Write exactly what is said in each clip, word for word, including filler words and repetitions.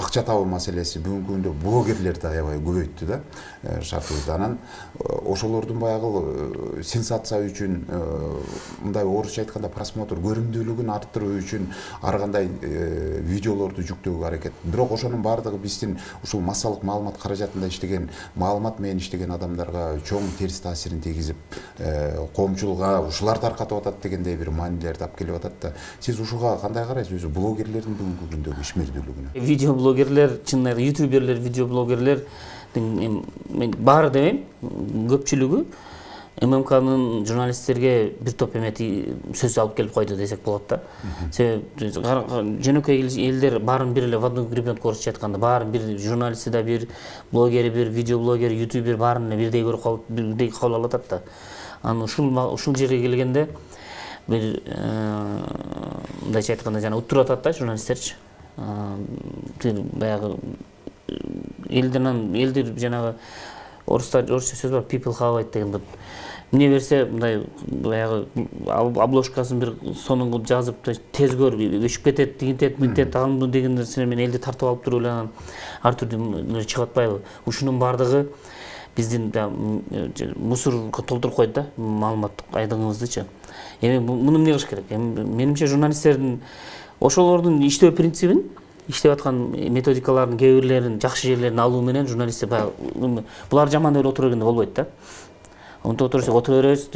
акча табуу маселеси бүгүнкү күндө блогерлерди аябай көбөйттү да шартыбызда. Анан ошолордун баягы сенсация үчүн, мындай орусча айтканда просмотр көрүмдүүлүгүн арттыруу үчүн ар кандай видеолорду жүктөөгө аракет. Бирок ошонун баардыгы биздин ушул массалык маалымат каражатында иштеген, маалымат менен иштеген адамдарга чоң терс таасирин тийгизип, коомчулукка ушулар таркатып атат дегендей бир маанилерди алып келип атат да. Сиз ушуга кандай карайсыз, өзү блогерлердин бүгүнкү күндөгү ишмердүүлүгүнө? Видеоблогерлер, чынында ютуберлер, видеоблогерлер мен баары демейм, көпчүлүгү ММКнын журналисттерге бир топ эмети сөз алып келип койду десек болот да. Себеби жөнөкөй элдер баарын бир эле в одну гребенку орусча айтканда баарын бир, журналисти да бир, блогери бир, видеоблогер, ютубер баарын бирдей көрүп калып, бирдей кабыл алып атат да. Анан ушул ушул жерге келгенде бир мындайча айтканда жана уттуруп атат да журналисттерчи. Баягы элден элдер жанагы орустар орусча сөз бар, people have it деген. Мне берсе мындай баягы обложкасын бир сонун жазып тез көр, өчүп кетет, тигинтет, мынтет, аны деген нерселер менен элди тартып алып туруп эле анан ар түрдүү чыгып атпайбы? Ушунун баардыгы биздин мусорго толтуруп койду да маалыматтык айдыңыбыздычы. Эми муну эмне кылыш керек? Менимче журналисттердин ошолордун иштөө принцибин, иштеп аткан методикалардын кээ бирлерин, жакшы жерлерин алуу менен журналисттер баягы булар жаман эле отура бергенде болбойт да. Онто отурсак отура беребиз,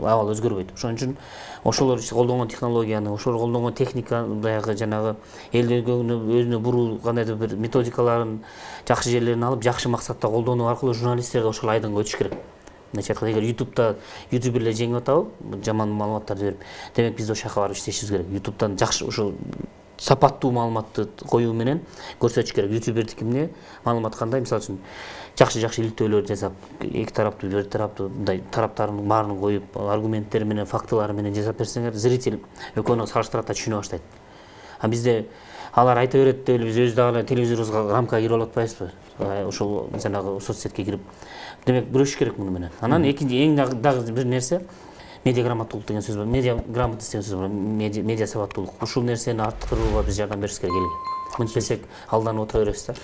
абал өзгөрбөйт. Ошон үчүн ошолор колдонгон технологияны, ошолор колдонгон техника, баягы жанагы элдерге өзүнө буруу кандайдыр бир методикаларын, жакшы жерлерин алып, жакшы максатта колдонуу аркылуу журналисттерге ошол айдынга өтүш керек. Мындайча айтканда, эгер ютубта ютуберлер жеңип атабы, жаман маалыматтарды берип, демек биз ошол жака барып иштешибиз керек. Ютубтан жакшы ушул сапаттуу маалыматты коюу менен көрсөтүш керек. Ютубердики эмне, маалымат кандай, мисалы үчүн жакшы-жакшы иликтөөлөр жасап, эки тараптуу, бир тараптуу мындай тараптарын баарын коюп, аргументтери менен, фактылары менен жасап берсеңер, зритель экөөнү салыштырат да түшүнө баштайт. А бизде алар айта берет деп эле биз өз дагы телевизорубузга рамкага кирип алып атпайбызбы? Ошол жанагы соцсетке кирип. Демек күрөшүш керек муну менен. Анан экинчи эң дагы бир нерсе медиа грамоттуулук деген сөз бар. Медиа грамотность деген сөз бар. Медиа сабаттуулук. Ушул нерсени арттырууга биз жардам беришибиз керек элге. Мынтпесек алданып отура беребиз да.